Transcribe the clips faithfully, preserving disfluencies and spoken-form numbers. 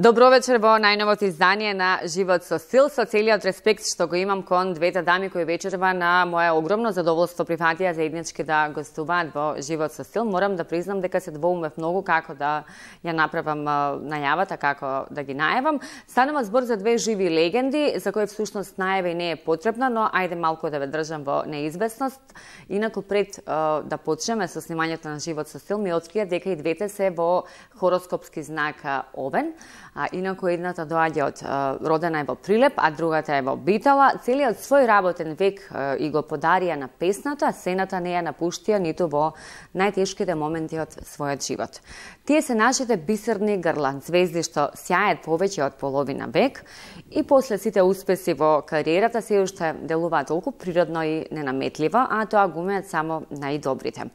Добро вечер во најновото издание на Живот со стил, со целиот респект што го имам кон двете дами кои вечерва на моја огромно задоволство прифатија заеднички да гостуваат во Живот со стил. Морам да признам дека се двоумев многу како да ја направам најавата, како да ги најавам. Станува збор за две живи легенди, за кои всушност најава и не е потребна, но ајде малку да ве држам во неизвестност. Инаку пред да почнеме со снимањето на Живот со стил, ми открија дека и двете се во хороскопски знак Овен. А инаку едната доаѓа од родена е во Прилеп, а другата е во Битола. Целиот свој работен век и го подарија на песната, сената не ја напуштија ниту во најтешките моменти од својот живот. Тие се нашите бисерни грлан звезди што сјајат повеќе од половина век и после сите успеси во кариерата се уште делуваат толку природно и ненаметливо, а тоа го умеат само најдобрите.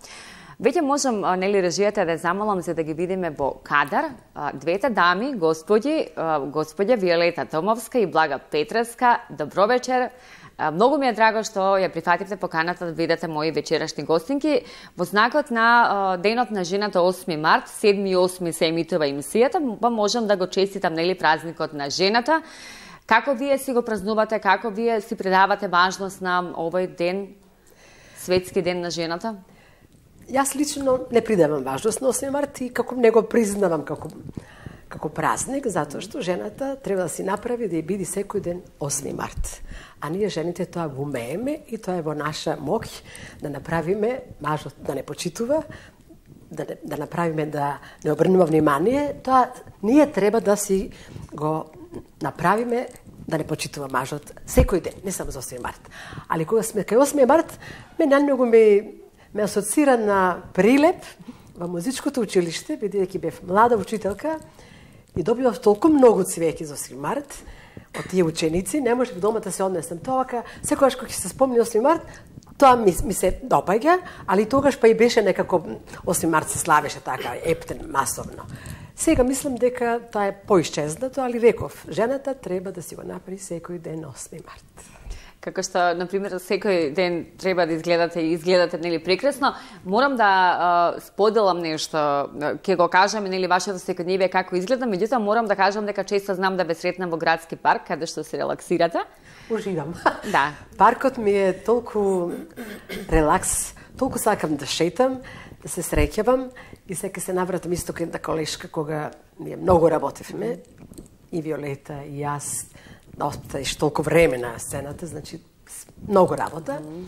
Веќе можам, нели, режијата да замолам за да ги видиме во кадар двете дами, господи, господја Виолета Томовска и Блага Петреска. Добро вечер. Многу ми е драго што ја прифативте поканата да видите мои вечерашни гостинки. Во знакот на Денот на жената осми март, седми и осми се емитува емисијата, па можам да го честитам, нели, празникот на жената. Како вие си го празнувате, како вие си придавате важност на овој ден, светски ден на жената? Јас лично не придавам важност на осми март и како не го признавам како, како празник, затоа што жената треба да си направи да ја биде секој ден осми март. А ние жените тоа го умееме и тоа е во наша моќ да направиме мажот да не почитува, да, да направиме да не обрнува внимание, тоа ние треба да си го направиме да не почитува мажот секој ден, не само за осми март. Али кога сме кај осми март, ме најмногу ми ме асоцира на Прилеп во музичкото училиште, бидејќи бев млада учителка и добивав толку многу цвеќе за осми март од тие ученици, не можев дома да се однесам тоа, секогаш кога ќе се спомни осми март, тоа ми, ми се допаѓа, али тогаш па и беше некако осми март се славеше така ептен, масовно. Сега мислам дека тоа е поисчезнато, али реков, жената треба да си го направи секој ден осми март. Како што, например, секој ден треба да изгледате и изгледате, нели, прекрасно. Морам да а, споделам нешто, ќе го кажам, нели, вашето секојдневие како изгледа, меѓутоа морам да кажам дека често знам да ве сретнам во градски парк, каде што се релаксирате. Уживам. Да. Паркот ми е толку релакс, толку сакам да шетам, да се среќавам и сега се навратам исто кај една колешка кога ние многу работевме, и Виолета, и јас, да оставиш толку време на сцената, значи многу работа. Mm.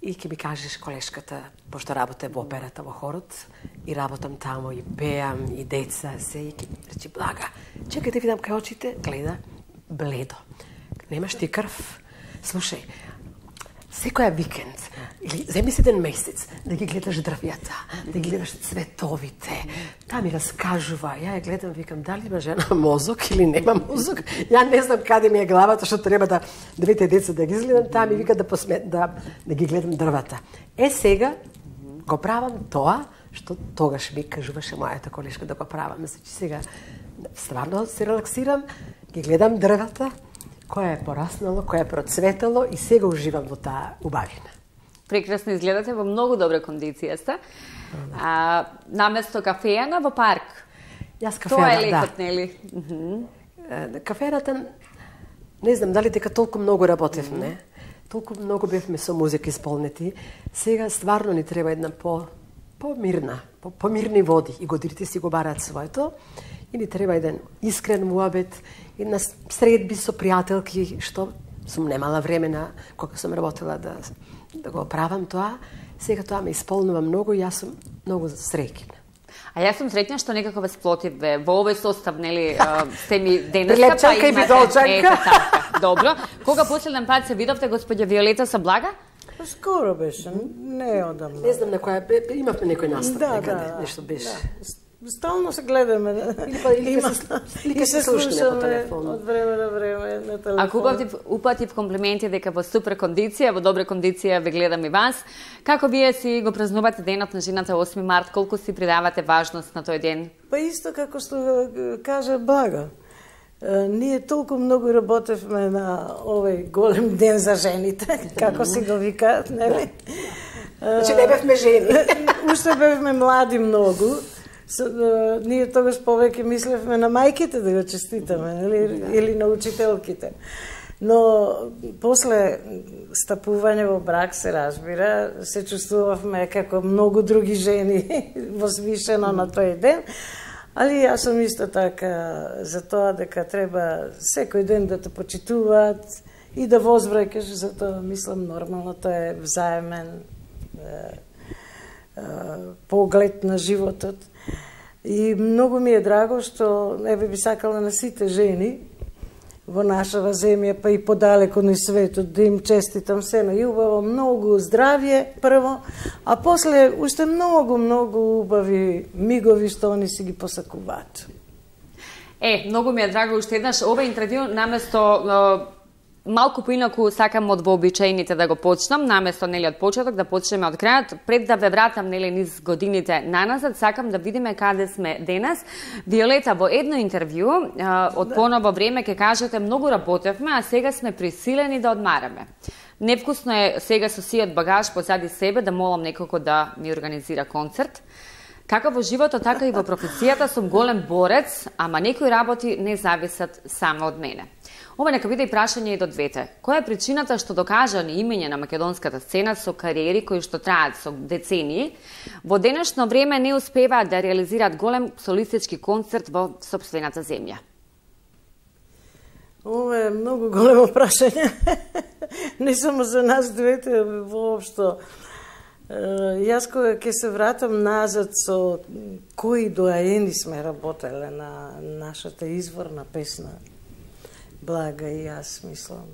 И ќе ми кажеш колешката, пошто работа во операта, во хорот, и работам тамо, и пеам, и деца, се, и ќе речи, Блага, чекај да видам кај очите, гледа, бледо. Немаш ти крв? Слушај, секоја викенд, или земи си еден месец, да ги гледаш дрвјата, да ги гледаш цветовите, таа ми раскажува, ја ја гледам, викам, дали има жена мозок или нема мозок, ја не знам каде ми е главата, што треба да двете деца да ги изгледам, таа ми вика да, посме, да, да ги гледам дрвата. Е, сега го правам тоа, што тогаш ми кажуваше мојата колешка да го правам. Значи, сега стварно се релаксирам, ги гледам дрвата, која е пораснало, која е процветало и сега уживам во таа убавина. Прекрасно изгледате, во многу добра кондиција сте. А, наместо кафејана во парк. Јас кафејана, тоа е лекот, да. нели? Uh -huh. Кафејаната, не знам дали дека толку многу работевме, uh -huh. толку многу бевме со музика исполнети. Сега стварно ни треба една по помирна, по помирни води и годирите си го бараат своето. И ни треба еден искрен муабет, една средби со пријателки, што сум немала времена кога сум работела да, да го правам тоа. Сега тоа ме исполнува многу и јас сум многу среќна. А јас сум среќна што некако ве сплотиве во овој состав, нели, сте ми денеска, Прилепчанка и Бидолчанка. Добро. Кога последен пат се видовте господја Виолета со Блага? Скоро беше, не одамна. Не знам на која, имавме некој настап да, некаде, да, нешто беше. Да. Стално се гледаме. Или па или се, се слушаме по телефон. Од време на време на телефон. Ако упатив, упатив комплименти дека во супер кондиција, во добра кондиција ве гледам и вас. Како вие си го празнувате денот на жената осми март? Колку си придавате важност на тој ден? Па исто како што кажа Блага. Ние толку многу работевме на овој голем ден за жените, како си го викаат, нели? Значи не бевме жени. Уште бевме млади многу. ние тогаш повеќе мислевме на мајките да го честитаме, или, или на учителките. Но после стапување во брак, се разбира, се чувствувавме како многу други жени возвишено на тој ден, али јас сум исто така за тоа дека треба секој ден да те почитуваат и да возвраќаш, затоа мислам нормално, тоа е взаемен е, е, поглед на животот. И многу ми е драго што еве би сакала на сите жени во нашава земја, па и подалеку на светот, да им честитам се најубаво, многу здравје прво, а после уште многу, многу убави мигови што они си ги посакуваат. Е, многу ми е драго уште еднаш ова интервју наместо малку поинаку сакам од вообичаените да го почнам, наместо нели од почеток да почнеме од крајот, пред да ве вратам нели низ годините наназад, сакам да видиме каде сме денес. Виолета, во едно интервју од поново време ќе кажете многу работевме, а сега сме присилени да одмараме. Невкусно е сега со сиот багаж позади себе да молам некој да ми организира концерт. Како во животот, така и во професијата сум голем борец, ама некои работи не зависат само од мене. Ова нека биде и прашање и до двете. Која е причината што докажани имења на македонската сцена со кариери кои што траат со децении, во денешно време не успеваат да реализираат голем солистички концерт во сопствената земја? Ова е многу големо прашање. Не само за нас двете, воопшто. Јас кога ќе се вратам назад со кои доаени сме работеле на нашата изворна песна, Блага и јас, мислам.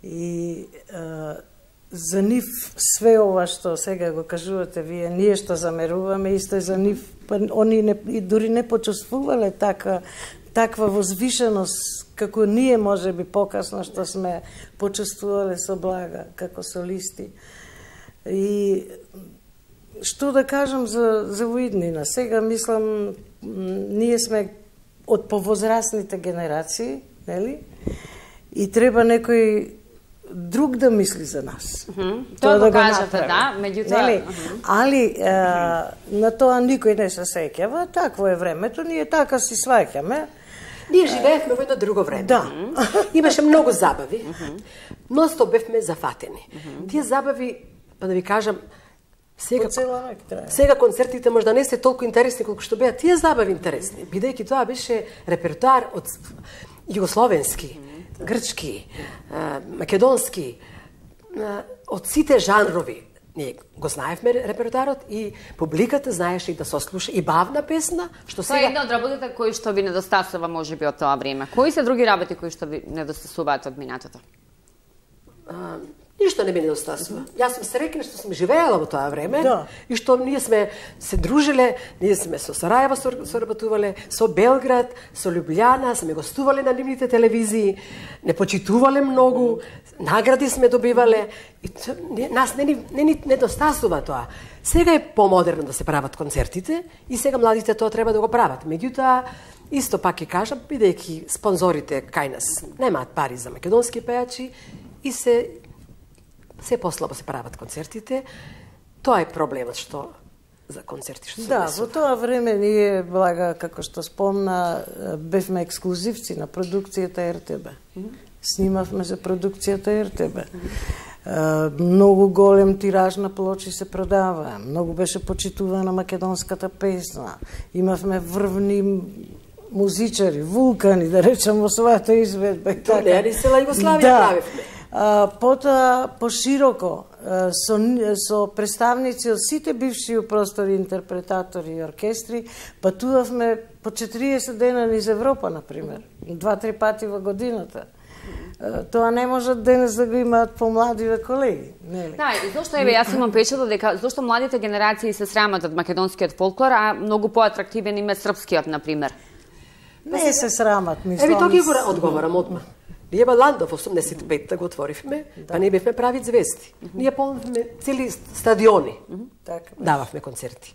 И е, за нив све ова што сега го кажувате вие, ние што замеруваме, исто е за нив, па они не, и дури не почувствувале така, таква возвишеност, како ние може би покасно што сме почувствувале со Блага, како солисти. И што да кажам за, за воиднина? Сега, мислам, ние сме од повозрастните генерации, нели? И треба некој друг да мисли за нас. Mm -hmm. Тоа да го кажете, да, меѓутоа. Нели? Mm -hmm. Али е, на тоа никој не се сеќава, такво е времето, ние така си сваќаме. Ние живеевме во едно друго време. Да. Имаше многу забави, но сто бевме зафатени. Тие забави, па да ви кажам, сега, сега концертите можда не се толку интересни колку што беа тие забави интересни, бидејќи тоа беше репертуар од југословенски, грчки, македонски, од сите жанрови. Ние го знаевме репертуарот и публиката знаеше и да сослуша и бавна песна, што сега... Тоа е една од работите кои што ви недостасува можеби од тоа време. Кои се други работи кои што ви недостасуваат од минатото? Ништо не ми недостасува. Јас сум среќна што сум живеела во тоа време, да. И што ние сме се дружиле, ние сме со Сарајево соработувале, со Белград, со Лјубљана, сме гостувале на нивните телевизии, не почитувале многу, награди сме добивале, и то, не, нас не ни не, не недостасува тоа. Сега е помодерно да се прават концертите и сега младите тоа треба да го прават. Меѓутоа, исто пак ќе кажам, бидејќи спонзорите кај нас немаат пари за македонски пејачи и се се послабо се прават концертите, тоа е проблемот што за концерти што се Да, десува. во тоа време ние, Блага, како што спомна, бевме ексклузивци на продукцијата ер те бе. Mm -hmm. Снимавме за продукцијата ер те бе. Mm -hmm. Многу голем тираж на плочи се продава, многу беше почитувана македонската песна. Имавме врвни музичари, вулкани, да речем, во својата изведба и така. Турнеи цела Југославија да. правевме. А, потоа пошироко со, со представници од сите бивши простори, интерпретатори и оркестри, патувавме по четириесет дена низ Европа, например, два-три пати во годината. Тоа не може денес да го имаат помладиве колеги, нели? Да, и зошто еве јас имам печато дека зошто младите генерации се срамат од македонскиот фолклор, а многу поатрактивен им е српскиот, например. Не се срамат, мислам. Еви тоа ги го одговорам одма. Ние во Ландов осумдесет и петта го отворивме, да. Па ние бевме прави звезди. Mm -hmm. Ние полнивме цели стадиони. Mm -hmm. Така. Дававме концерти.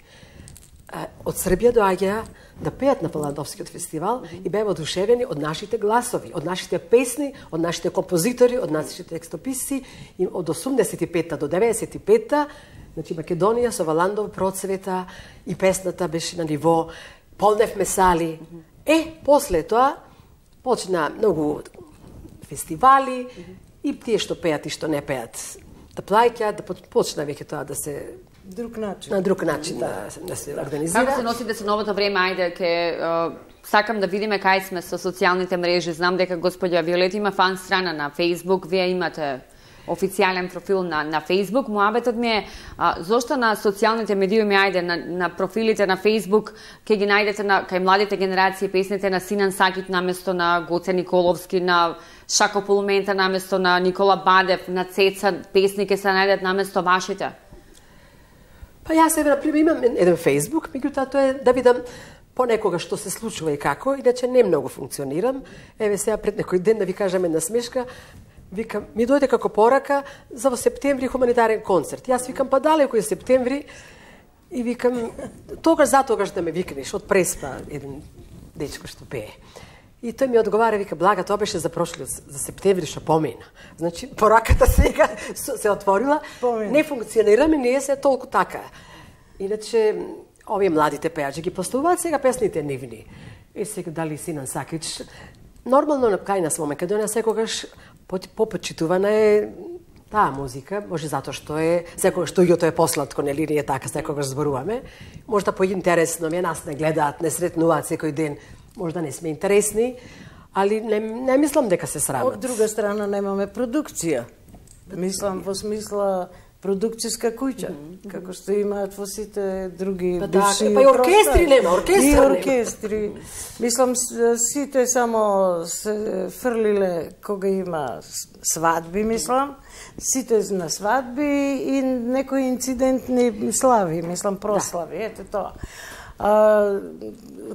А, од Србија доаѓаа да пеат на Ландовскиот фестивал mm -hmm. и беа одушевени од нашите гласови, од нашите песни, од нашите композитори, од нашите текстописци. И од осумдесет и петта до деветдесет и петта Значи, Македонија со Валандов процвета и песната беше на ниво, полневме сали. Е, после тоа, почна многу фестивали и тие што пеат и што не пеат да плаќаат, да почна веќе тоа да се друг начин. На друг начин да, да се организира. Како се носите со новото време, ајде, ке сакам да видиме кај сме со социјалните мрежи. Знам дека господја Виолета има фан страна на Facebook, вие имате официјален профил на на Facebook. Муабетот ми е а, зошто на социјалните медиуми, ајде, на, на профилите на Facebook ќе ги најдете на кај младите генерации песните на Синан Сакит наместо на Гоце Николовски, на Шако Полумента наместо на Никола Бадев, на Цеца песни ќе се најдат наместо вашите? Па јас еве, например, имам еден Facebook, меѓутоа тоа е да видам понекога што се случува и како, иначе не многу функционирам. Еве сега пред некој ден да ви кажам една смешка, викам, ми дојде како порака за во септември хуманитарен концерт. Јас викам, па далеко е септември, и викам, тогаш затогаш да ме викнеш, од Преспа, еден дечко што пее. И тој ми одговара, вика, Блага, тоа беше за прошлиот, за септември што помина. Значи, пораката сега се отворила, помина. Не функционираме, ние се толку така. Иначе, овие младите пејачи ги поставуваат сега песните нивни. И сега дали Синан Сакич, нормално на кај нас во Македонија секогаш попочитувана е таа музика, може затоа што е секогаш студиото е посладко, нели ние така секогаш зборуваме. Можда поинтересно ми нас не гледаат, не сретнуваат секој ден, можда не сме интересни, али не, не мислам дека се срамат. Од друга страна немаме продукција. Мислам во смисла продукцијска куќа, mm -hmm. како што имаат во сите други па бивши да, па и оркестри нема, оркестри и нема. оркестри. Мислам, сите само се фрлиле кога има свадби, мислам, сите на свадби и некои инцидентни слави, мислам, прослави, да. Ете тоа. А,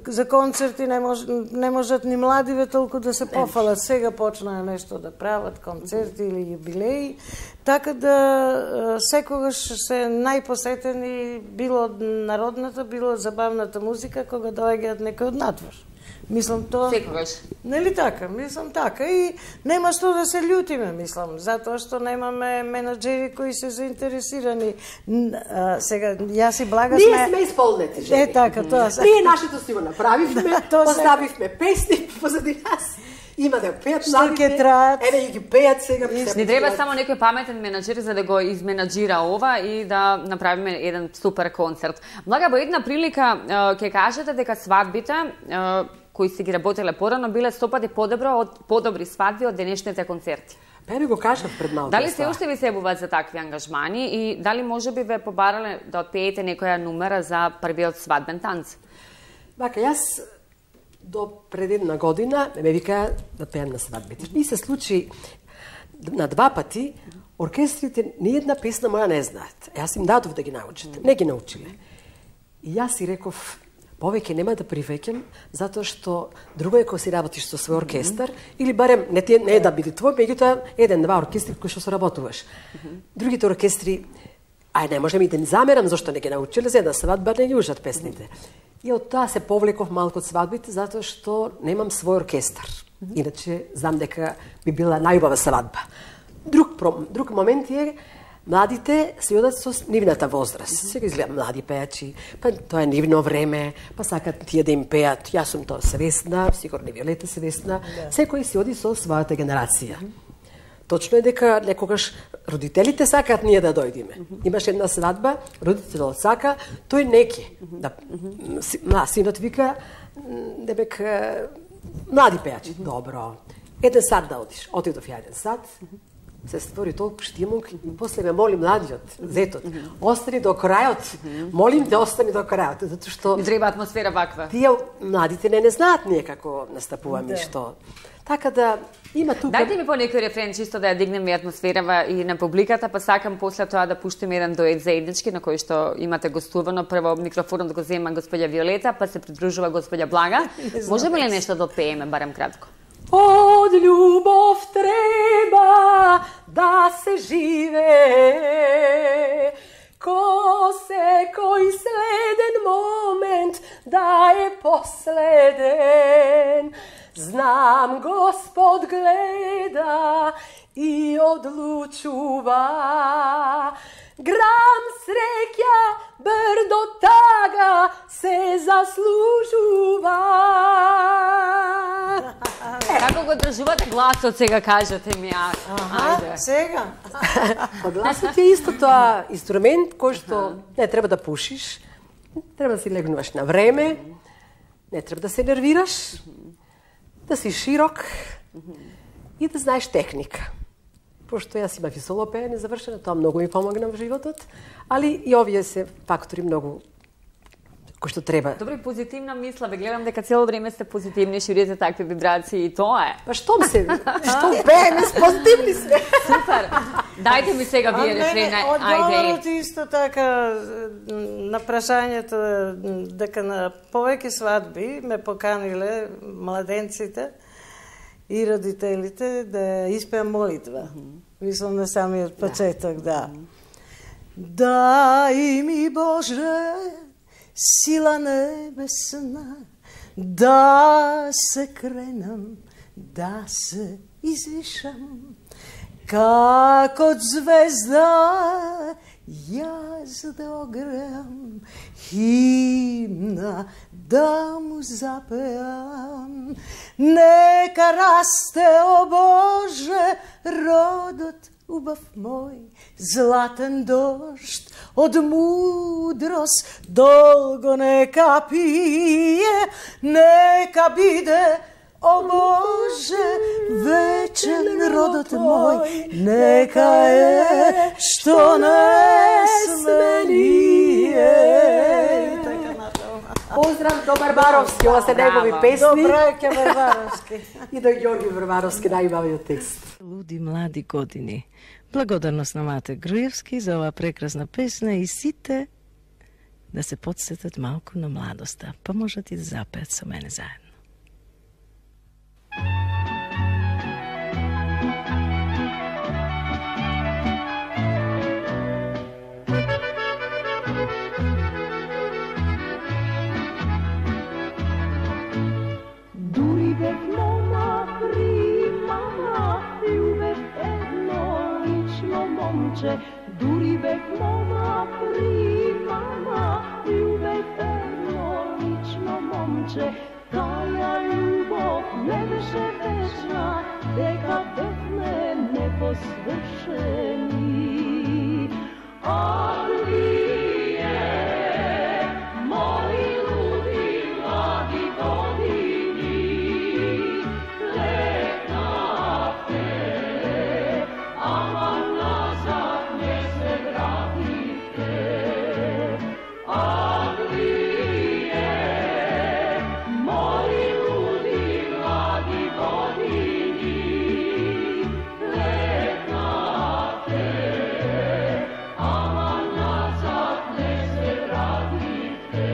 за концерти не, мож, не можат ни младиве толку да се пофалат. Сега почнаа нешто да прават, концерти или юбилеи, така да секогаш се најпосетени било народната, било забавната музика кога доаѓаат некој од надвор. Мислам тоа... Секогаш. Нели така? Мислам така. И нема што да се љутиме, мислам, затоа што немаме менаџери кои се заинтересирани. А, сега, јас и Блага сме... Ние сме исполнети жени. Е, така, тоа се. Ние нашето си го направивме, да, поставивме песни позади нас. Има да пеат младите, ќе траат. Еве и ги пеат сега. Не треба само некој паметен менаџер за да го изменаџира ова и да направиме еден супер концерт. Блага, во една прилика ќе кажете дека свадбите кои си ги работеле порано биле сто пати подобро од подобри свадби од денешните концерти. Па ви го кажав пред малку. Дали се уште ви се ебуваат за такви ангажмани и дали можеби ве побарале да отпеете некоја нумера за првиот свадбен танц? Бака, јас до пред една година ме викаа да пеам на свадбите. И се случи на два пати оркестрите ни една песна моја не знаат. Јас им дадов да ги научат. Не ги научиле. И јас си реков, повеќе нема да привеќам, затоа што друго е кога си работиш со свој оркестар, или барем не, те, не е да биде твој, меѓутоа еден-два оркестри кои што соработуваш. Другите оркестри, ај не можем и да ни замерам зашто не ги научиле, за една свадба не ги ужат песните. И од тоа се повлеков малку од свадбите, затоа што немам свој оркестар. Иначе знам дека би била најубава свадба. Друг, друг момент е, младите се одат со нивната возраст. Сега изгледа млади пејачи, па тоа е нивно време, па сакат тие да им пеат. Јас сум тоа свесна, сигурно Виолета свесна. Секој си оди со својата генерација. Точно е дека некогаш родителите сакаат ние да дојдеме. Имаш една свадба, родителот сака, тој неки. Да, синот вика, дебек, млади пејачи. Добро. Еден сат да одиш. Отидов ја еден сат, се створи толку штимунг и после ме моли младиот, зетот, остани до крајот. Молим те, остани до крајот, затоа што не треба атмосфера ваква. Тие младите не не знаат ние како настапуваме и што. Така да има тука. Дајте ми по некој рефрен чисто да ја дигнеме атмосферава и на публиката, па сакам после тоа да пуштиме еден дует заеднички на кој што имате гостувано. Прво микрофонот го зема господја Виолета, па се придружува господја Блага. Можеме ли нешто да отпееме барем кратко? Од љубов треба да се живее, ко секој следен момент да е последен. Знам Господ гледа и одлучува, Грам среќа брдо тага се заслужува. Како го држувате гласот сега, кажете ми, а? Ајде. Сега? Гласот е исто тоа инструмент кој што не треба да пушиш, треба да си легнуваш на време, не треба да се нервираш, да си широк и да знаеш техника. Пошто јас имав и соло пеење завршено, тоа многу ми помогна во животот, али и овие се фактори многу кои што треба. Добре, позитивна мисла, ве гледам дека цело време сте позитивни, ширите такви вибрации и тоа е. Па штом се, штом пееме, позитивни сме. Супер. Дајте ми сега вие рефрена, ајде. Одговорот исто така на прашањето дека на повеќе свадби ме поканиле младенците и родителите да испеам молитва. Мислам на самиот почеток, да. Дај ми Боже сила небесна, да се кренам, да се извишам, како звезда јас да огреам, химна да му запеам. Нека расте, о Боже, родот убав мој, златен дожд од мудрост долго нека пие, нека биде, о Боже, вечен родот мој, нека е што не сменije. Поздрав до Барбаровски, ова се негови песни. До Брајке Барбаровски. И до Ѓорги Барбаровски, најубавиот текст. Луди млади години. Благодарност на Мате Груевски за оваа прекрасна песна и сите да се подсетат малку на младоста, па можат и да запеат со мене заедно. Дури бев мома примама, љубев едно лично момче. Дури бев мома примама, љубев едно лично момче. Таја љубов не беше вечна, дека бевме непосвршени. А вие, мои луди млади години, летнавте, ама назад не се вратите. А вие, мои луди млади години, летнавте, ама назад не се вратите.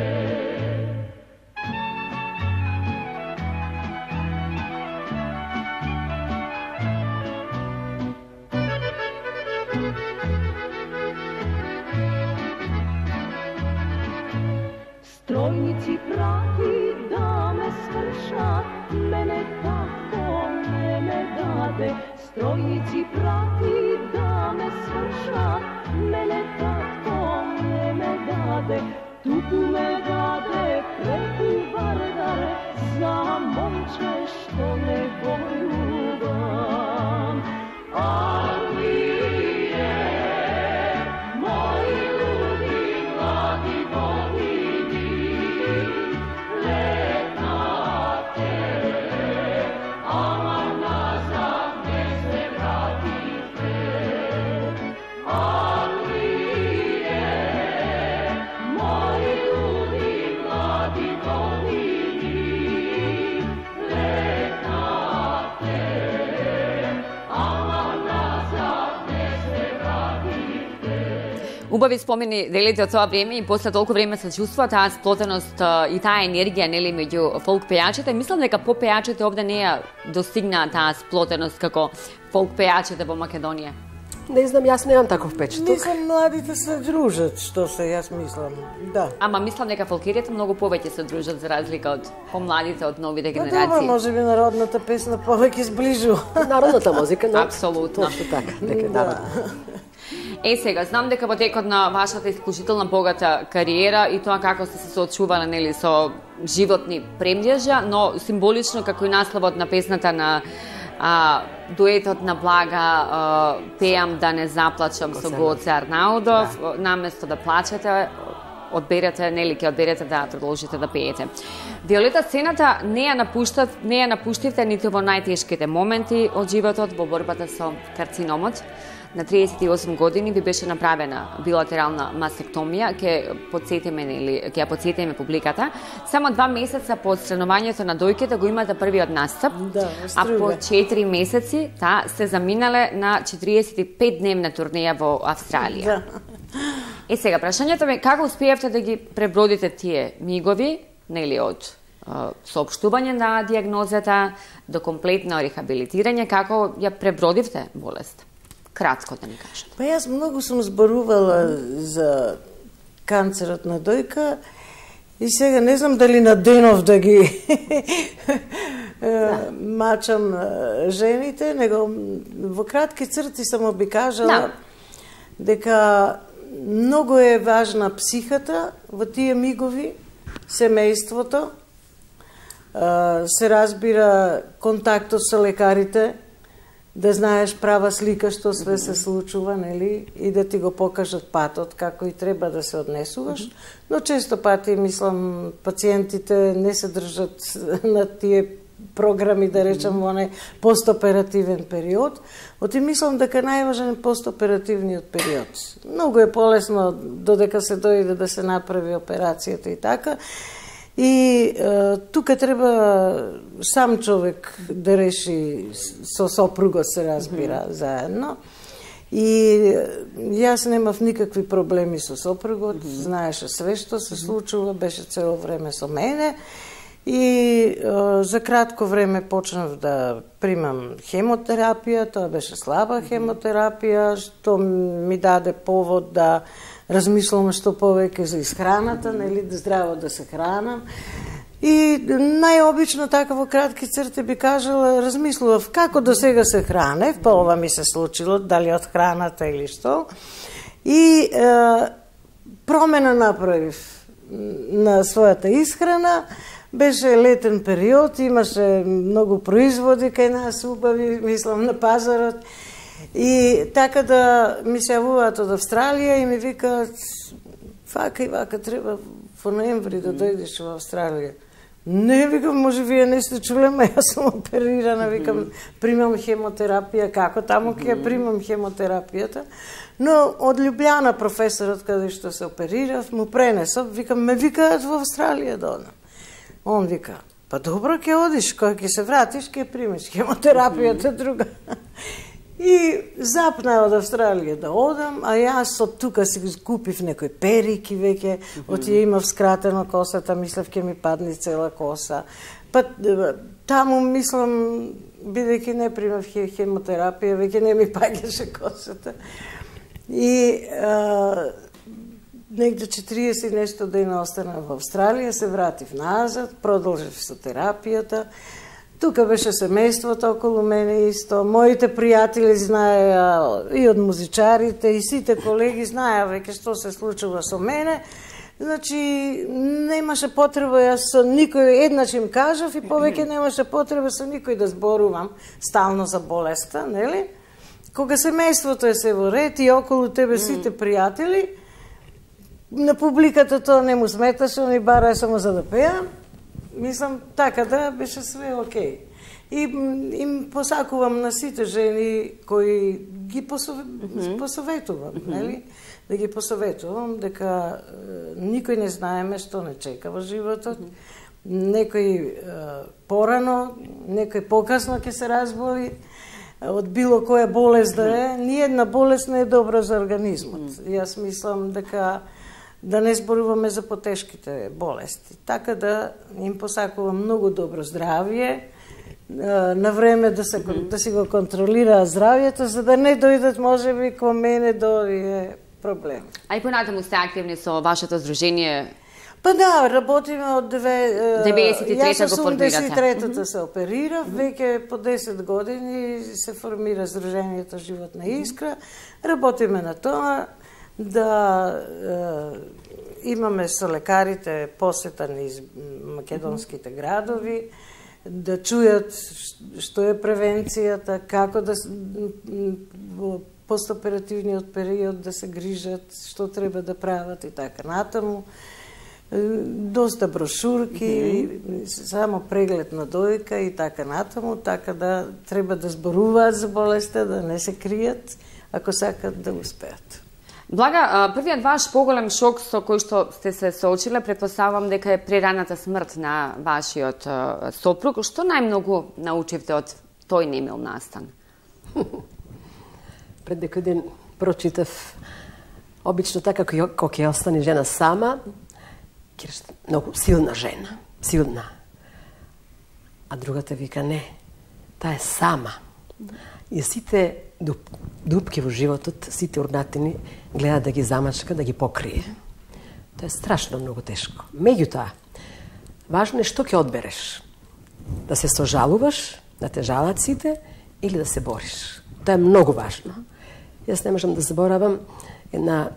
Стројници прати да ме свршат, мене тако не ме даде. Стројници прати да ме свршат, мене тако не ме даде. Туку ме даде преку вардар за момче што не го љубам. А вие, мои луди млади години, летнавте, ама назад не се вратите. А вие, мои луди млади години, летнавте, ама назад не се вратите. Убави спомени делите од тоа време и после толку време се чувства таа сплотеност и таа енергија, нели, меѓу фолк пејачите. Мислам дека по пејачите овде не ја достигна таа сплотеност како фолк пејачите во Македонија. Не знам, јас немам таков печаток. Мислам, младите се дружат, што се јас мислам. Да. Ама мислам дека фолкеријата многу повеќе се дружат за разлика од помладите, од новите Па добро, генерации. може би народната песна повеќе сближува. Народната музика, но Апсолутно. точно така, дека е народна. Е, сега, знам дека во текот на вашата исклучителна богата кариера и тоа како сте се соочувале, нели, со животни премљежа, но символично како и насловот на песната на а, дуетот на Блага, а, пеам да не заплачам со Гоце Арнаудов, да. Наместо да плачете, одберете, нели, ќе одберете да продолжите да пеете. Виолета, сцената не ја напуштат, не ја напуштивте ниту во најтешките моменти од животот во борбата со карциномот. На триесет и осум години ви беше направена билатерална мастектомија, ќе подсетиме, нели, ќе ја подсетиме публиката. Само два месеца по отстранувањето на дојките го имате првиот настап, да, а по четири месеци та се заминале на четириесет и пет дневна турнеја во Австралија. Да. Е, сега, прашањето ми, како успеевте да ги пребродите тие мигови, нели, од соопштување на диагнозата до комплетно рехабилитирање, како ја пребродивте болест? Кратко да ни кажете. Па јас многу сум зборувала за канцерот на дојка и сега не знам дали на денов да ги да. мачам жените, него во кратки црти само би кажала да. дека многу е важна психата во тие мигови, семејството, се разбира контактот со лекарите, да знаеш права слика што све се случува, нели, и да ти го покажат патот како и треба да се однесуваш, но често пати, мислам, пациентите не се држат на тие програми, да речам, во не постоперативен период. Оти мислам дека најважен е постоперативниот период. Многу е полесно додека се дојде да се направи операцијата и така. И е, тука треба сам човек да реши со сопругот, се разбира, mm -hmm. заедно. И јас немав никакви проблеми со сопругот, mm -hmm. знаеше све што се случува, беше цело време со мене. И е, за кратко време почнав да примам хемотерапија, тоа беше слаба хемотерапија, што ми даде повод да размислувам што повеќе за исхраната, нели, да здраво да се хранам. И најобично така во кратки црти би кажала, размислував како до сега се хранев, па ова ми се случило, дали од храната или што. И е, промена направив на својата исхрана. Беше летен период, имаше многу производи кај нас убави, мислам, на пазарот. И така да ми се јавуваат од Австралија и ми викаат, вака и вака, треба во ноември да дојдеш во Австралија. Не, викам, може вие не сте чуле, ма јас сум оперирана, викам, примам хемотерапија, како таму ќе ја примам хемотерапијата. Но од Лјубљана професорот каде што се оперирав, му пренесов, викам, ме викаат во Австралија да одам. Он вика, па добро, ќе одиш, кога ќе се вратиш, ќе примеш хемотерапијата друга. И запна од Австралија да одам, а јас од тука си купив некои перики веќе, од тие имав скратено косата, мислев ќе ми падне цела коса. Па таму, мислам, бидејќи не примав хемотерапија, веќе не ми паѓаше косата. И а, негде четириесет и нешто дена остана во Австралија, се вратив назад, продолжив со терапијата. Тука беше семејството околу мене исто, моите пријатели знаеа и од музичарите, и сите колеги знаеа веќе што се случува со мене. Значи, немаше потреба, јас со никој, еднаш им кажав и повеќе немаше потреба со никој да зборувам стално за болеста, нели? Кога семејството е се во ред и околу тебе сите пријатели, на публиката тоа не му сметаше, они бараа само за да пеам. Мислам, така да беше све окей. И им посакувам на сите жени кои ги посов... mm -hmm. посоветувам, mm -hmm. нели? Да ги посоветувам дека е, никој не знаеме што не чека во животот. Mm -hmm. Некој е, порано, некој покасно ќе се разболи од било која болест да е. Ниедна болест не е добра за организмот. Mm -hmm. Јас мислам дека да не зборуваме за потешките болести. Така да им посакувам многу добро здравје, на време да, се, да си го контролира здравјето, за да не дојдат можеби кон мене до овие проблеми. А и понатаму сте активни со вашето здружение? Па да, работиме од две... деветдесет и трета Јас го формирате. осумдесет и третата се оперирав, веќе по десет години се формира Сдруженијето Животна искра. Работиме на тоа да е, имаме со лекарите посета низ македонските градови, да чујат што е превенцијата, како да во постоперативниот период да се грижат, што треба да прават и така натаму. Доста брошурки, mm-hmm. само преглед на дојка и така натаму, така да треба да зборуваат за болеста, да не се кријат, ако сакат да успеат. Блага, првиот ваш поголем шок со кој што сте се соочиле, предпоставам дека е прераната смрт на вашиот сопруг. Што најмногу научивте од тој немил настан? Пред некој ден прочитав, обично така кога ќе остане жена сама, ќе рече многу силна жена, силна. А другата вика не, таа е сама. И сите дуб, дупки во животот, сите урнатини гледа да ги замачка, да ги покрие. Тоа е страшно многу тешко. Меѓутоа, важно е што ќе одбереш. Да се сожалуваш, да те жалат сите или да се бориш. Тоа е многу важно. Јас не можам да заборавам една,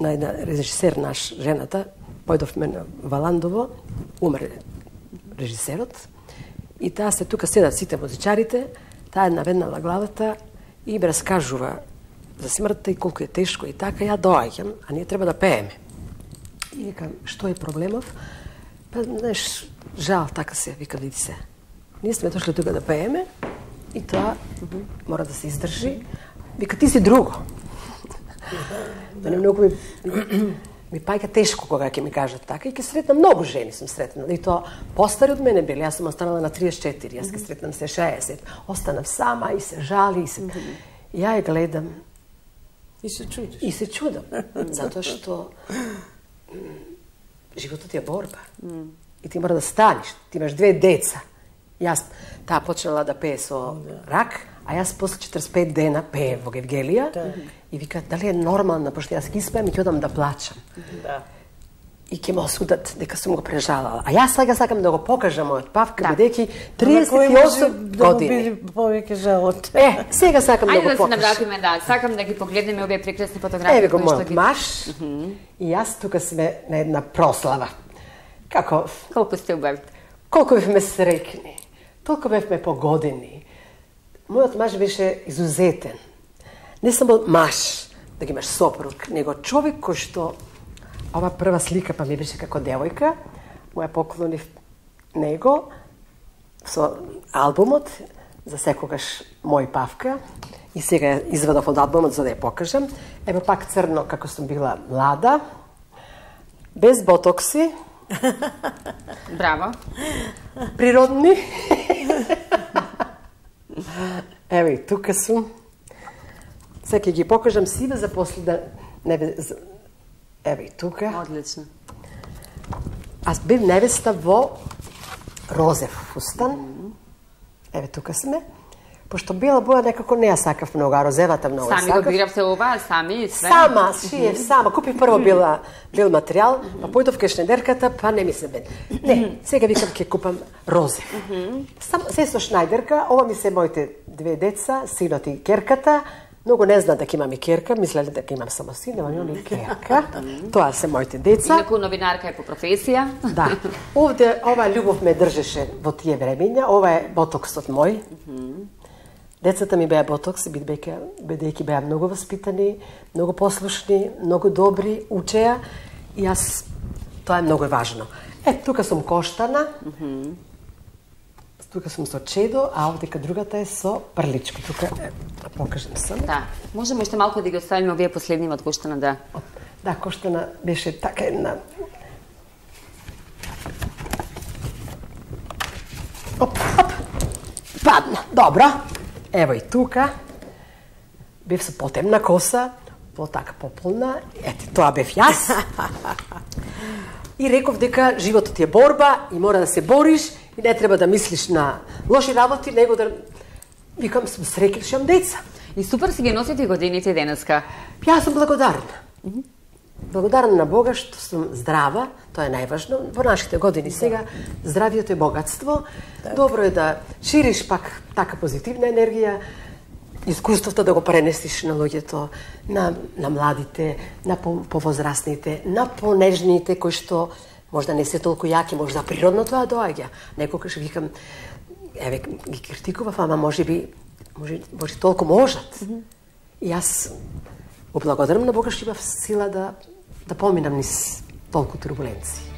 на една режисер наш, жената, појдовме на Валандово, умре режисерот, и таа се тука седат сите музичарите, таа е наведнала главата и им раскажува за смртта и колку е тешко и така, ја доаѓам, а ние треба да пееме. И викам, што е проблемов? Па, знаеш, жал, така се, вика, види се. Ние сме дошли тука да пееме и тоа мора да се издржи. Вика, ти си друго. Мене многу ми, ми паѓа тешко кога ќе ми кажат така и ќе сретнам многу жени сум сретнала. И тоа постари од мене били, јас сум останала на триесет и четири, јас ќе сретнам се шеесет. Останав сама и се жали и се... И ја ја гледам И се чудиш. и се чудам, затоа што животот е борба. И ти мора да станеш, ти имаш две деца. Јас таа почнала да пее со рак, а јас после четиридесет и пет дена пее во Гевгелија и вика, дали е нормално, пошто јас ги испеам и ќе одам да плачам. Да. И ќе ме осудат дека сум го прежалала. А јас сега сакам да го покажам мојот павка, бидејќи триесет и осум години. Да повеќе жалот. Е, сега сакам да Ајде го да се покажам. навратиме, да. Сакам да ги погледнеме овие прекрасни фотографии. Еве го кои што мојот ги- маш. И јас тука сме на една прослава. Како, Колку сте убави. колку бевме среќни, толку бевме погодени. Мојот маж беше изузетен. Не само маш, да ги имаш сопруг, него човек кој што... Ова прва слика па ми беше како девојка, му ја поклонив него со албумот за секогаш мој павка и сега ја извадов од албумот за да ја покажам. Ево пак црно како сум била млада, без ботокси, Браво. природни. Ево и тука сум. Сега ќе ги покажам сиве за после да не бе... за- Ево и тука. Одлично. Аз бев невеста во розев фустан. Еве тука сме. Пошто бела боја некако не ја сакав многу, а розевата многу ја Сами го сакав. биравте ова, сами и све. Сама, шиев, сама. Купив прво била, бил материјал, па појдов кај шнедерката, па не ми се бен. Не, сега викам ќе купам розев. Само се со Шнајдерка, ова ми се моите две деца, синот и керката. Многу не знаат дека имам и керка, мислеле дека имам само син, нема имам и керка. Тоа се моите деца. Инаку новинарка е по професија. Да. Овде ова љубов ме држеше во тие времења. Ова е ботоксот мој. Децата ми беа ботокс, бидејќи бидејќи беа многу воспитани, многу послушни, многу добри, учеа и јас тоа е многу важно. Е, тука сум коштана. Тука сум со чедо, а овдека другата е со прличко. Тука е, да покажам сам. Да. Можеме уште малку да ги оставиме овие последни од Коштана, да. Да, коштана беше така една... Оп, оп, падна, добро. Ево и тука. Бев со потемна коса, по така пополна. Ете, тоа бев јас. И реков дека животот е борба и мора да се бориш и не треба да мислиш на лоши работи, него да... Викам, сум среќна што имам деца. И супер си ги носите годините денеска. Јас сум благодарна. благодарна на Бога што сум здрава, тоа е најважно. Во нашите години сега здравието е богатство. Добро е да шириш пак така позитивна енергија, искуството да го пренесиш на луѓето, на, на младите, на повозрастните, на понежните кои што можда не се толку јаки, можда природно тоа доаѓа. Некогаш викам, еве ги критикував, ама може би може, може толку можат. Mm -hmm. И јас го благодарам на Бога што имав сила да да поминам низ толку турбуленции.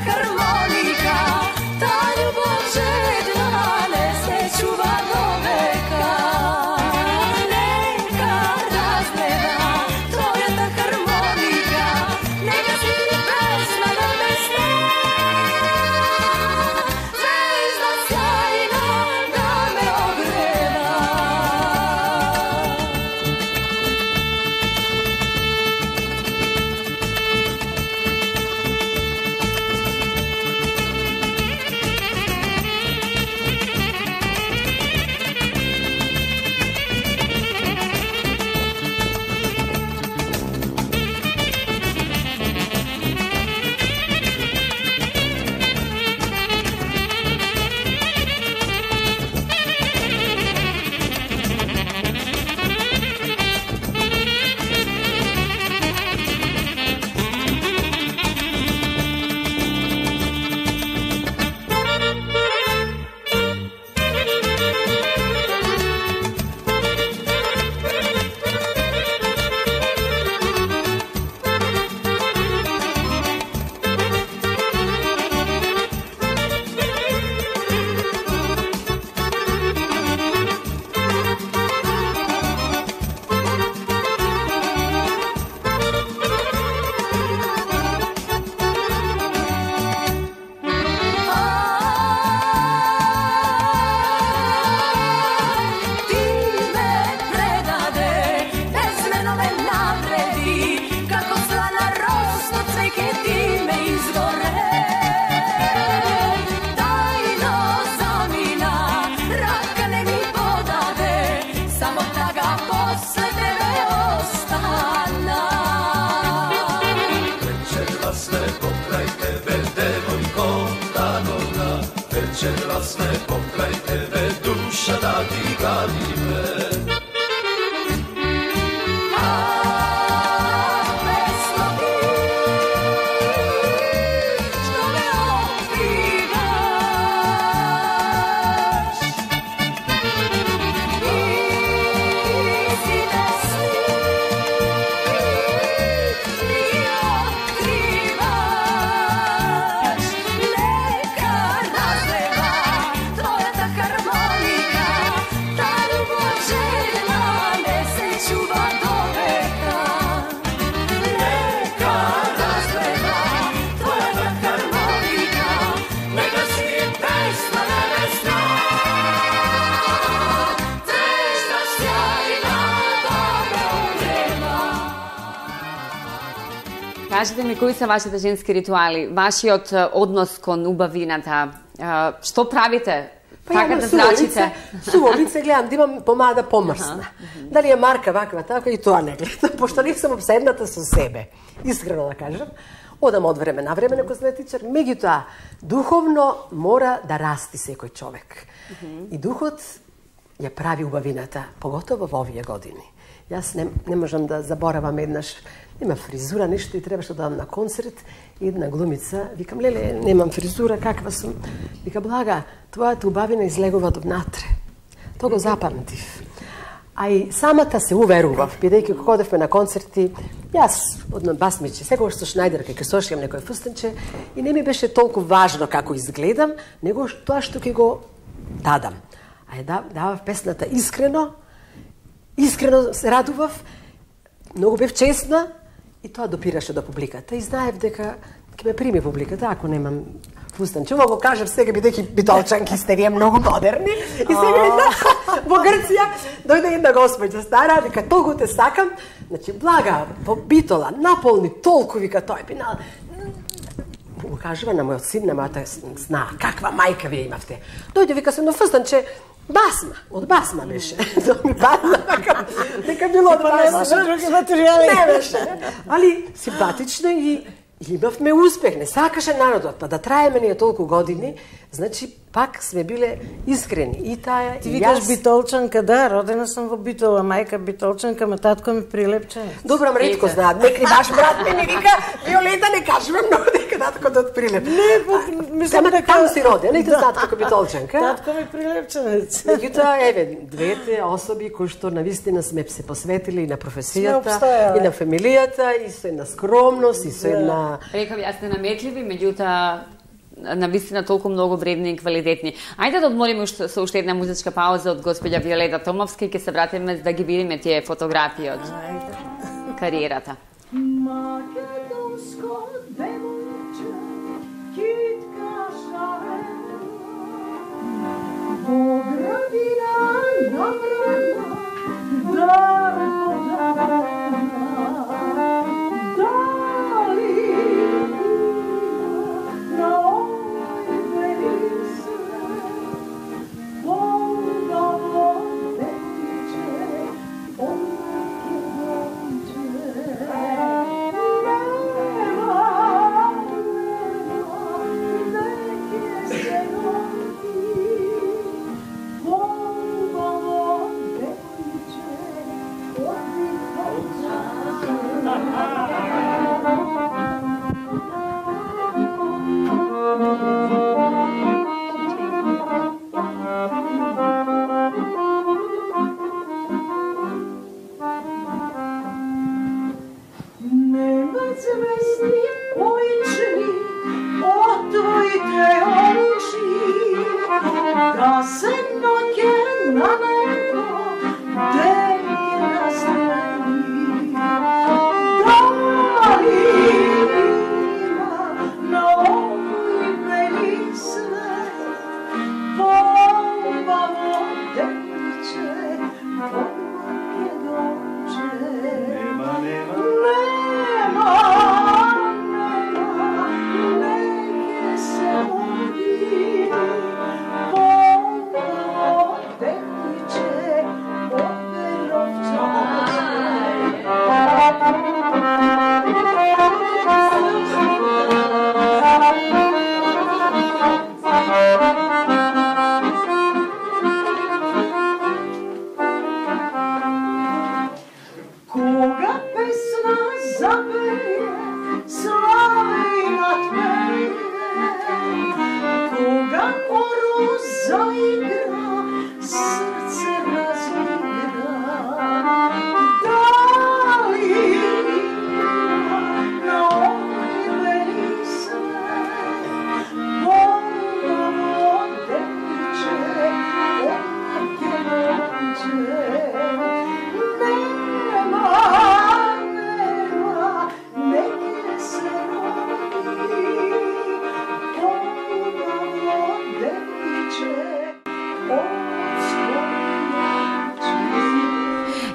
Harmonika, ta kota noga, večeras me pokraj tebe, duša da ti gali me. Кажете ми, кои се вашите женски ритуали, вашиот однос кон убавината, што правите? Па така да зрачите? Суво лице гледам да имам помада помрсна. Дали е марка ваква, така и тоа не гледам, пошто не сум обседната со себе. Искрено да кажам. Одам од време на време на козметичар, меѓутоа духовно мора да расти секој човек. И духот ја прави убавината, поготово во овие години. Јас не, не можам да заборавам еднаш, нема фризура, нешто и требаше да одам на концерт, и една глумица, викам, леле, немам фризура, каква сум? Вика, блага, твојата убавина излегува до внатре. Тоа го запамтив. А и самата се уверував, бидејќи кога одевме на концерти, јас одно басмиче, секогаш со Шнајдерка ќе сошијам некој фустенче и не ми беше толку важно како изгледам, него тоа што ќе го дадам. А ја давав песната искрено, искрено се радував, многу бев честна и тоа допираше до публиката. И знаев дека ќе ме прими публиката ако немам фустанче. Ова го кажав сега бидејќи битолчанки сте вие многу модерни. И сега во Грција дојде една госпоѓа стара, вика толку те сакам, значи блага во Битола наполни толку, вика тој пинал. Го кажува на мојот син, на мојата сна, каква мајка вие имавте. Дојде вика се на фустанче басма, од басма беше. Тоа ми падна, дека, дека било од басма. Други материјали. Не беше. Али симпатично и имавме успех, не сакаше народот, па да траеме ние толку години, значи пак сме биле искрени. И таа Ти и викаш јас... Битолчанка, да, родена сум во Битола, мајка Битолчанка, ма татко ми Прилепчанец. Добро, ам ретко знаат, некри баш брат ми не вика, Виолета не кажува многу дека таткото од Прилеп. Не, мислам дека... Таму си роден, не те знаат како Битолчанка. Татко ми Прилепчанец. Меѓутоа, еве, двете особи кои што навистина сме се посветили и на професијата, обстојале. и на фамилијата, и со една скромност, и со една... Рекав, јас сте наметливи, меѓутоа навистина толку многу вредни и квалитетни. Ајде да одмориме уште, со уште една музичка пауза од госпоѓа Виолета Томовска и ќе се вратиме да ги видиме тие фотографии од кариерата. Македонско девојче, китка шарена, во градина направена, дарпожарена, дали на овој велисе, волгаво девојче, о Македонче.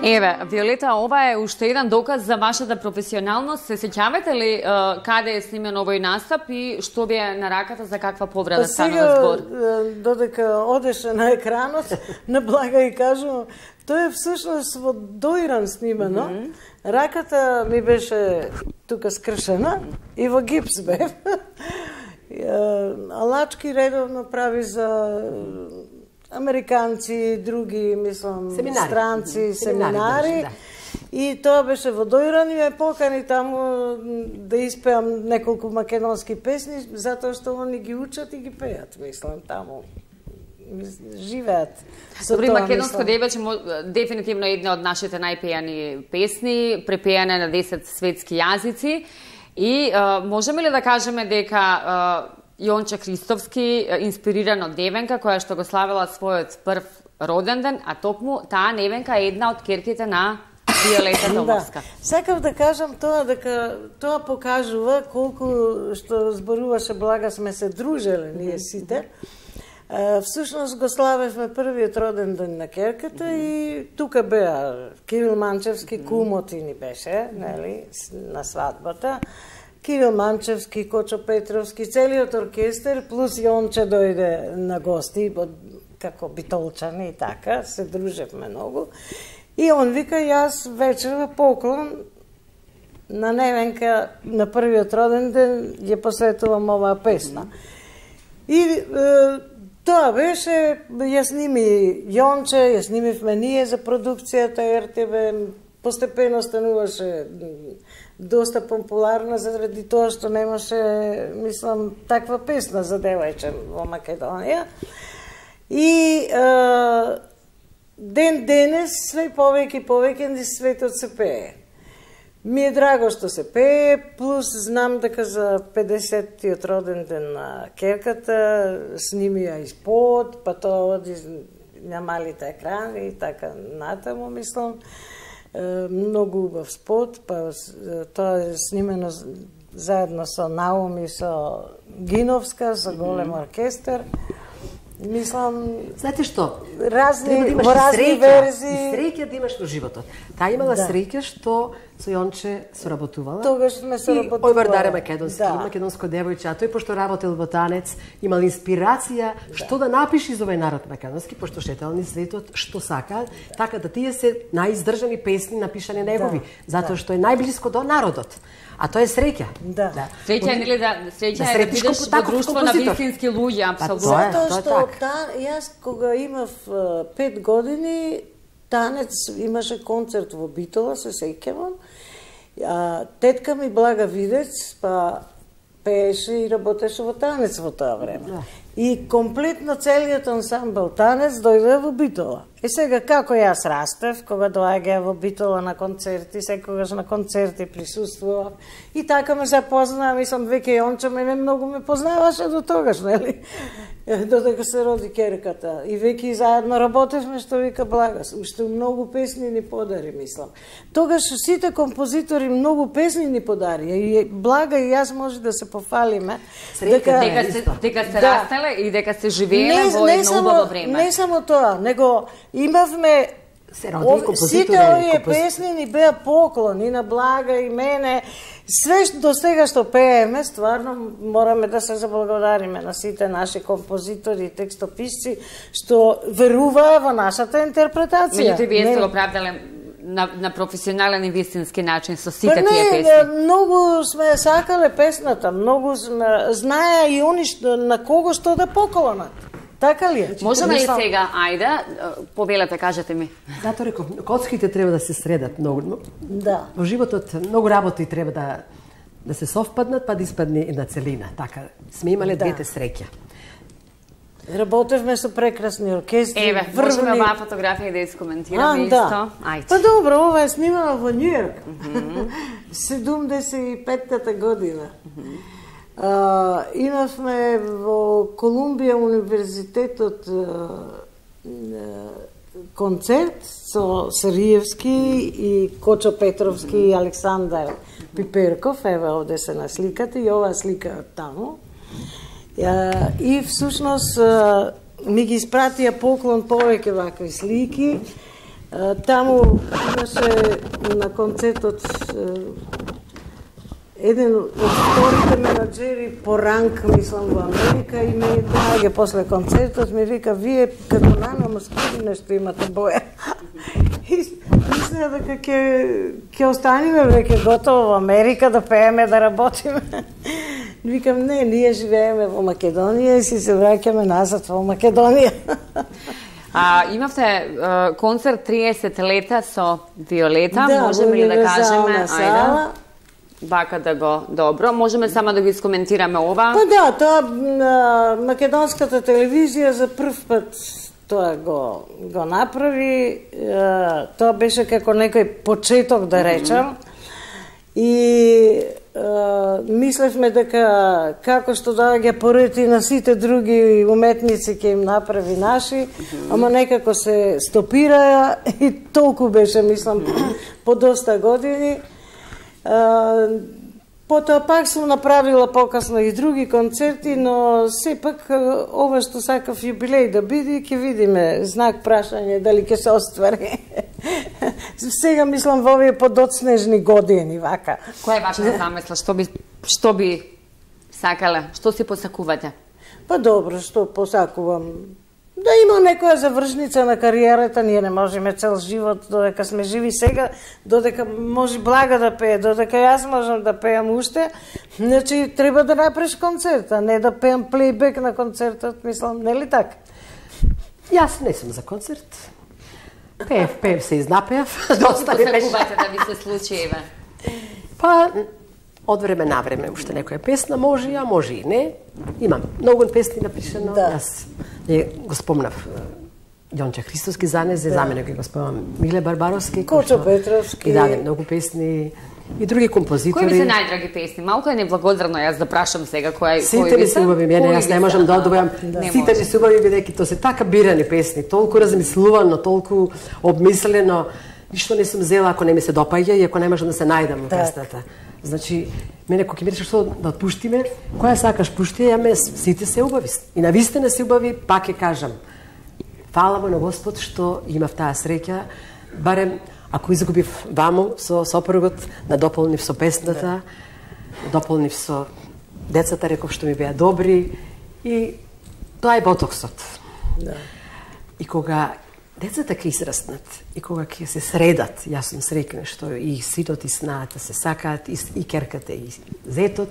Еве, Виолета, ова е уште еден доказ за вашата професионалност. Се сеќавате ли е, каде е снимен овој настап и што ви е на раката, за каква повреда станува збор? Сега, додека одеше на екранот, на Блага и кажувам, тоа е всушност во доиран снимано. Mm -hmm. Раката ми беше тука скршена и во гипс бев. Алачки редовно прави за американци, други, мислам, семинари. странци, Mm -hmm. семинари. семинари да. И тоа беше во доиран и ме покани таму да испеам неколку македонски песни, затоа што они ги учат и ги пеат, мислам, таму. Живеат. Добри, македонско девече дефинитивно една од нашите најпејани песни, препејане на десет светски јазици. И а, можеме ли да кажеме дека а, Јонче Христовски, инспириран од Невенка, која што го славила својот прв роден ден, а токму таа Невенка е една од керките на Виолета Домовска. Да. Сакав да кажам тоа, дека тоа покажува колку што зборуваше Блага сме се дружеле ние сите. Uh, всушност го славевме првиот роден ден на керката mm -hmm. и тука беа Кирил Манчевски, mm -hmm. кумоти ни беше, нели, на свадбата. Кирил Манчевски, Кочо Петровски, целиот оркестар, плюс Јонче дојде на гости, како битолчани и така, се дружевме многу. И он вика, јас вечерва поклон на Невенка на првиот роден ден ја посветувам оваа песна. Mm -hmm. И е, тоа беше, ја сними Јонче, ја снимивме ние за продукцијата ер те ве, постепено стануваше доста популарна заради тоа што немаше, мислам, таква песна за девојче во Македонија. И е, ден денес све повеќе и повеќе низ светот се пее. Ми е драго што се пее, плюс знам дека за педесеттиот роден ден на керката снимија испод, па тоа оди на малите екрани и така натаму, мислам. Многу убав спот, па тоа е снимено заедно со Наум и со Гиновска, со голем оркестар. Мислам, знаете што? Разни, да во разни среќа, верзии. И среќа да имаш во животот. Таа имала да. среќа што со Јонче соработувала. Тогаш сме соработувала. И ој Вардаре македонски, да. македонско девојче, а тој пошто работел во танец, имал инспирација да. што да напиши за овој народ македонски, пошто шетел низ светот што сака, да. така да тие се најиздржани песни напишани негови, да. затоа што е најблиско до народот. А тоа е среќа. Да. да. Среќа е нели да среќа да е да бидеш во друштво на вистински луѓе, апсолутно. Тоа е, Затоа тоа е што така. та, јас кога имав пет години, танец имаше концерт во Битола, се сеќавам. Тетка ми Блага Видец, па пееше и работеше во танец во тоа време. Да. И комплетно целиот ансамбл танец дојде во Битола. И сега како јас растев, кога доаѓа во Битола на концерти, секогаш на концерти присуствував. И така ме запознаа, мислам, веќе Јонче мене многу ме познаваше до тогаш, нели? Додека се роди керката. И веќе заедно работевме, што вика Блага. Уште многу песни ни подари, мислам. Тогаш сите композитори многу песни ни подари. И Блага и јас може да се пофалиме. Дека, дека, се, дека се да. растеле и дека се живееле во едно убаво време. Не само тоа, него имавме се роди композитори. Сите овие компози... песни ни беа поклон и на Блага и мене. Све до сега што пееме, стварно мораме да се заблагодариме на сите наши композитори и текстописци што веруваа во нашата интерпретација. Меѓутоа вие сте го правдале на, на професионален и вистински начин со сите не, тие песни. Многу сме сакале песната, многу сме знаеа и они што, на кого што да поколонат. Така ли е? Можеме ли сега, ајде, повелете, кажете ми. Зато реков, коцките треба да се средат многу. Да. Во животот многу работи треба да да се совпаднат, па да испадне една целина. Така, сме имале да. двете среќа. Работевме со прекрасни оркестри. Еве, врвни... можеме оваа фотографија да искоментираме исто. Да. Ајде. Па добро, ова е снимано во Њујорк. седумдесет и петата година. Mm -hmm. Uh, имавме во Колумбија универзитетот uh, uh, концерт со Сариевски и Кочо Петровски и Александар Пиперков, еве овде се на сликата и оваа слика таму. Uh, и всушност uh, ми ги испратија поклон повеќе вакви слики. Таму имаше на концертот еден од вторите менаџери по ранг, мислам, во Америка и ме доаѓа после концертот, ми вика, вие како нана москви нешто имате боја. И мисля дека ќе ќе останеме веќе готово во Америка да пееме, да работиме. Викам, не, ние живееме во Македонија и си се враќаме назад во Македонија. А, имавте а, концерт триесет лета со Виолета, да, можеме ли да кажеме, сала. Ајде, вака да го, добро, можеме само да го искоментираме ова? Па да, тоа а, македонската телевизија за прв пат тоа го, го направи, а, тоа беше како некој почеток, да речам, mm -hmm. и а, мислевме дека како што доаѓа порети на сите други уметници ќе им направи наши, mm -hmm. ама некако се стопираја и толку беше, мислам, по доста години. А, потоа пак сум направила покасно и други концерти, но сепак ова што сакав јубилеј да биде, ќе видиме, знак прашање дали ќе се оствари. Сега мислам во овие подоцнежни години, вака. Која е вашата замисла? Што би, што би сакале? Што си посакувате? Па добро, што посакувам? Да има некоја завршница на кариерата, ние не можеме цел живот, додека сме живи сега, додека може Блага да пее, додека јас можам да пеам уште, значи треба да направиш концерт, а не да пеам плейбек на концертот, мислам, нели така? Јас не сум за концерт. Пеев, пеев се изнапеав. Доста ми беше. Посакувате да ви се случи, еве? Па, од време на време, уште некоја песна може, а може и не. Имам многу песни напишано. Да. Јас не го спомнав Јонче Христоски занезе, да. За мене го спомнам Миле Барбаровски, Кочо Петровски. И даде многу песни и други композитори. Кои ви се најдраги песни? Малку е неблагодарно јас да прашам сега кој сите ми се убави, мене јас не можам да одвојам. Сите ми се убави бидејќи тоа се така бирани песни, толку размислувано, толку обмислено. Ништо не сум зела ако не ми се допаѓа и ако не можам да се најдам во песната. Значи, мене кога ќе ми речеш што да отпуштиме, која сакаш пушти, ја ме сите се убави. И навистина се убави, пак ќе кажам. Фала му на Господ што имав таа среќа, барем ако изгубив ваму со сопругот, да дополнив со песната, дополнив со децата, реков што ми беа добри и тоа е ботоксот. Да. И кога децата ќе израснат и кога ќе се средат, јас сум среќна што и синот и снаата се сакаат, и, и керката и зетот,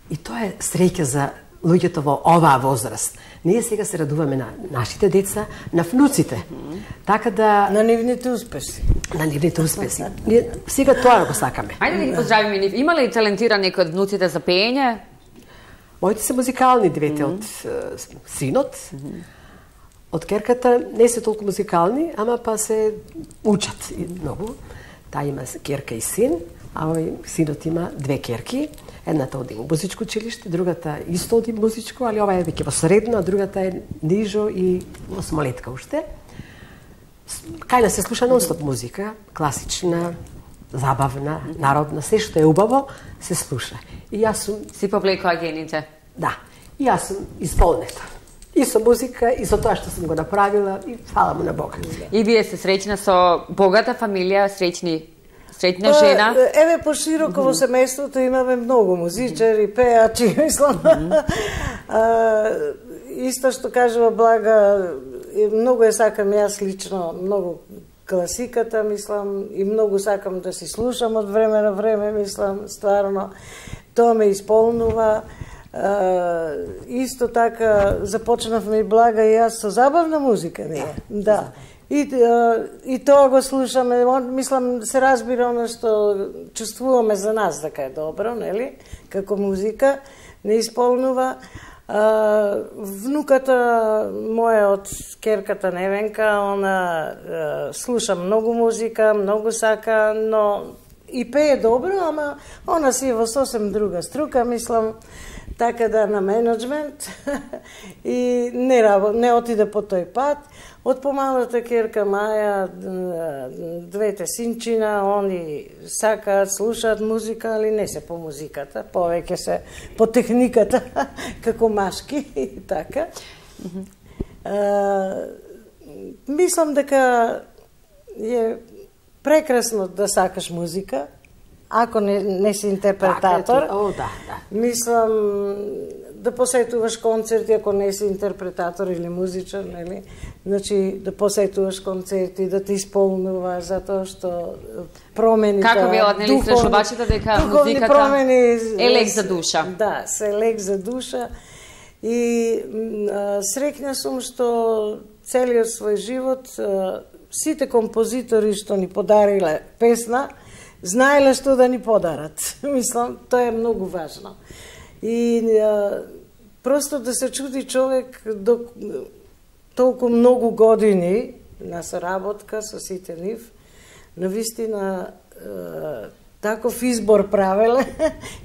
и тоа е среќа за луѓето во оваа возраст. Ние сега се радуваме на нашите деца, на внуците. Mm -hmm. Така да... На нивните успеси. На нивните успеси. Ние сега тоа го сакаме. Ајде да ги поздравиме нив. Има ли талентиран некој од внуците за пеење? Моите се музикални, двете mm -hmm. од uh, синот. Mm -hmm. Од керката не се толку музикални, ама па се учат и многу. Таа има керка и син, а овој синот има две керки. Едната оди во музичко училиште, другата исто оди музичко, али ова е веќе во средно, а другата е нижо и осмолетка уште. Кај да се слуша нон-стоп музика, класична, забавна, народна, се што е убаво, се слуша. И јас сум... Си повлекоа гените? Да. И јас сум исполнета. И со музика, и со тоа што сум го направила, и фала му на Бога. И вие се среќна со богата фамилија, среќни Среќна жена? Еве, пошироко во семејството имаме многу музичари, пеачи, мислам. Исто што кажува Блага, многу е сакам јас лично, многу класиката, мислам, и многу сакам да си слушам од време на време, мислам, стварно. Тоа ме исполнува. Исто така, започнавме и Блага и јас со забавна музика, ние. Да. И, и тоа го слушаме, мислам, се разбира оно што чувствуваме за нас дека е добро, нели, како музика, не исполнува. А, внуката моја од керката Невенка, она а, слуша многу музика, многу сака, но и пее добро, ама она си е во сосем друга струка, мислам, така да на менеджмент и не, не отиде по тој пат. Од помалата керка Маја, двете синчина, они сакаат, слушаат музика, али не се по музиката, повеќе се по техниката, како машки и така. Mm -hmm. а, мислам дека е прекрасно да сакаш музика, ако не, не си интерпретатор. Так, о, да, да. Мислам да посетуваш концерти ако не си интерпретатор или музичар, нели? Значи да посетуваш концерти, да те исполнува затоа што промените. Како велат, нели, слушачите дека музиката промени, е лек за душа. Да, се лек за душа. И а, среќна сум што целиот свој живот а, сите композитори што ни подариле песна, знаеле што да ни подарат. Мислам, тоа е многу важно. И а, просто да се чуди човек до толку многу години на соработка со сите нив, навистина а, таков избор правеле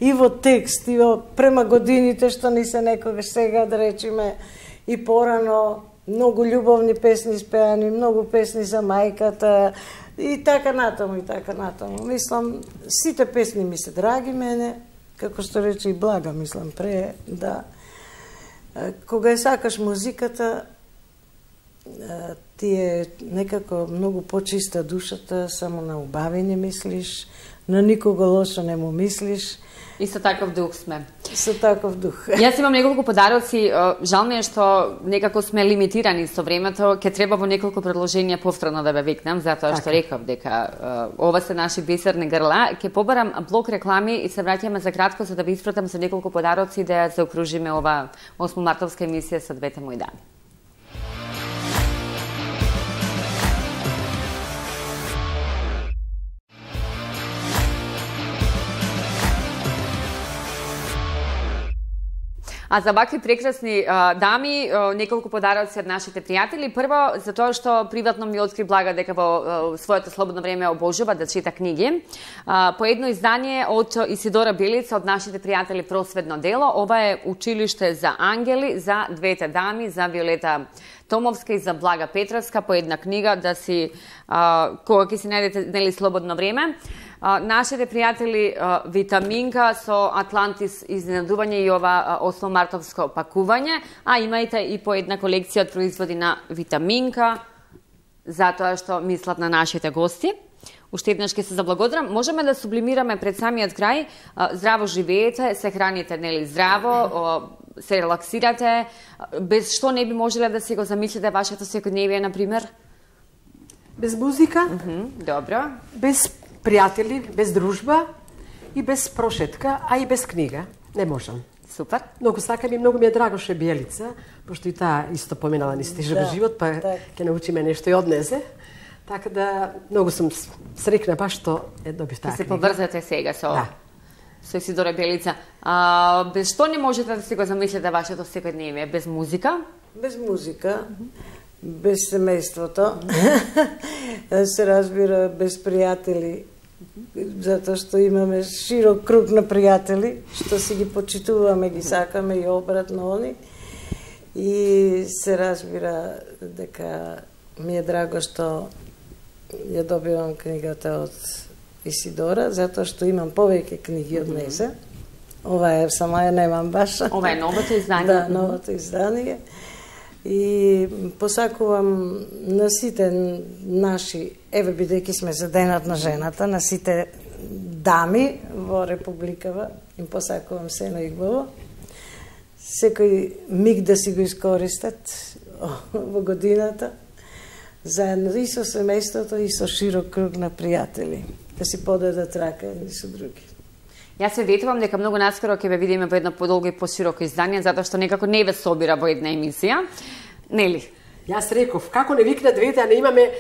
и во текст, и во према годините што ни се некогаш сега, да речиме, и порано, многу љубовни песни спеани, многу песни за мајката, и така натаму, и така натаму. Мислам, сите песни ми се драги мене, како што рече и Блага, мислам, пре, да. Кога ја сакаш музиката, ти е некако многу почиста душата, само на убави не мислиш, на никого лошо не му мислиш. И со таков дух сме. Со таков дух. Јас имам неколку подароци, жал ми е што некако сме лимитирани со времето, ќе треба во неколку предложенија повторно да ве викнам, затоа што реков дека ова се наши бисерни грла. Ќе побарам блок реклами и се враќаме за кратко за да ви испратам со неколку подароци да ја заокружиме ова осмомартовска емисија со двете мои дами. А за вакви прекрасни а, дами, а, неколку подароци од нашите пријатели. Прво, за тоа што приватно ми откри Блага дека во а, своето слободно време обожува да чита книги. А, по едно издание од Исидора Белица, од нашите пријатели Просветно дело. Ова е Училиште за ангели, за двете дами, за Виолета Томовска и за Блага Петровска, по една книга да си, а, кога ќе си најдете, нели, слободно време. А, нашите пријатели а, Витаминка со Атлантис изненадување и ова осмомартовско пакување, а имајте и по една колекција од производи на Витаминка, затоа што мислат на нашите гости. Уште еднаш ќе се заблагодарам. Можеме да сублимираме пред самиот крај. А, здраво живеете, се храните, нели, здраво, а, се релаксирате, без што не би можеле да си го замислите вашето секојдневие, например? Без музика, Mm -hmm, добро. без пријатели, без дружба и без прошетка, а и без книга. Не можам. Супер. Многу сакам и многу ми е драго што е Биелица, пошто и таа исто поминала низ тежок Да, живот, па так. ќе научиме нешто и однесе. Така да, многу сум срекна баш што е добив таа Се книга. поврзате сега со, Да. со Исидора Белица. А, без што не можете да си го замислите вашето секојдневие? Без музика? Без музика, без семејството, се разбира, без пријатели, затоа што имаме широк круг на пријатели, што си ги почитуваме, ги сакаме и обратно они. И се разбира дека ми е драго што ја добивам книгата од Исидора, затоа што имам повеќе книги од незе. Ова е, само ја немам баш. Ова е новото издание. Да, новото издание. И посакувам на сите наши, еве бидејќи сме за денот на жената, на сите дами во Републикава, им посакувам се најубаво. Секој миг да си го искористат во годината, заедно и со семејството и со широк круг на пријатели, да си подадат рака едни со други. Јас се ветувам дека многу наскоро ќе ве видиме во едно подолго и пошироко издание, затоа што некако не ве собира во една емисија. Нели? Јас реков, како не викна двете, а не имаме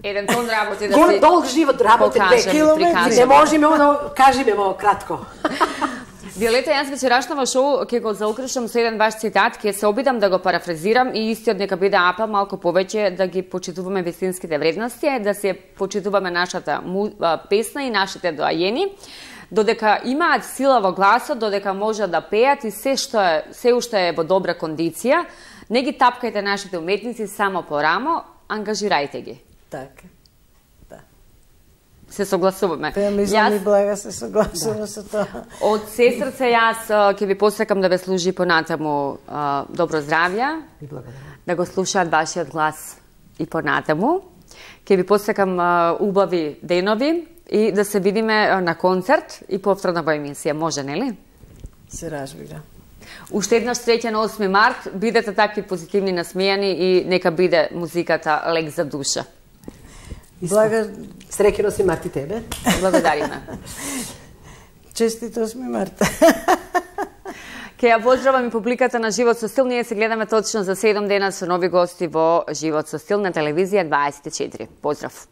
Еден тон работи да гол, се долг живот, работи две покажеме, километри. прикажеме. Не можеме да кажеме во кратко. Виолета, јас вечерашно во шоу ќе го заокрушам со еден ваш цитат, ќе се обидам да го парафразирам и истиот нека биде апел малку повеќе да ги почитуваме вистинските вредности, да се почитуваме нашата му, а, песна и нашите доајени, додека имаат сила во гласот, додека можат да пеат и се што е, се уште е во добра кондиција, не ги тапкајте нашите уметници само по рамо, ангажирајте ги. Така. Се согласуваме. Па ја мислам и Блага се согласува со тоа. Од се срце јас а, ќе ви посакам да ве служи понатаму а, добро здравје, И благодарам. да го слушаат вашиот глас и понатаму. Ке ви посекам убави денови и да се видиме на концерт и повторно во емисија, може, нели? Се разбира. Уште еднаш среќа на осми март, бидете такви позитивни, насмејани и нека биде музиката лек за душа. Блага... Среќен осми март и тебе. Благодариме. Честит осми март. Ке ја поздравам и публиката на Живот со стил. Ние се гледаме точно за седум дена со нови гости во Живот со стил на телевизија дваесет и четири. Поздрав!